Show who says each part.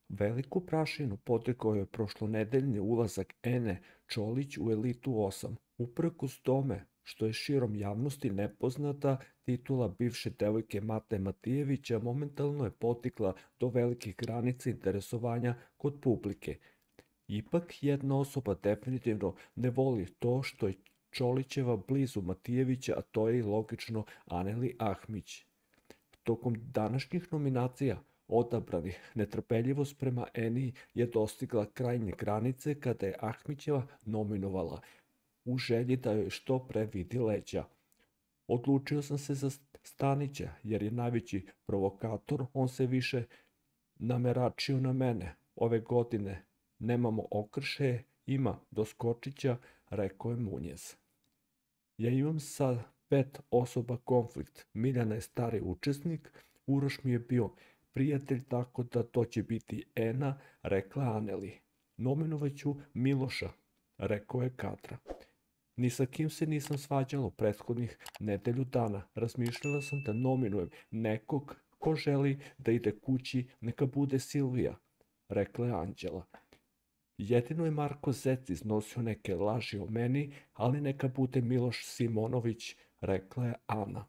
Speaker 1: Veliku prašinu potekao je prošlonedeljni ulazak Ene Čolić u elitu 8, uprkos tome što je širom javnosti nepoznata titula bivše devojke Mate Matijevića momentalno je potikla do velikih granica interesovanja kod publike. Ipak jedna osoba definitivno ne voli to što je Čolićeva blizu Matijevića, a to je i logično Aneli Ahmić. Tokom današnjih nominacija odabranih netrpeljivost prema Eni je dostigla krajnje granice kada je Ahmićeva nominovala u želji da joj što pre vidi leđa. Odlučio sam se za Stanića jer je najveći provokator, on se više nameračio na mene. Ove godine nemamo okršaje, ima doskočića, rekao je Munjez. Ja imam sa 5 osoba konflikt. Miljana je stari učesnik, Uroš mi je bio prijatelj, tako da to će biti Ena, rekla Aneli. Nominovaću Miloša, rekao je Katra. Ni sa kim se nisam svađala prethodnih nedelju dana. Razmišljala sam da nominujem nekog ko želi da ide kući, neka bude Silvija, rekla je Anđela. Jedino je Marko Zec iznosio neke laži o meni, ali neka bude Miloš Simonović, rekla je Ana.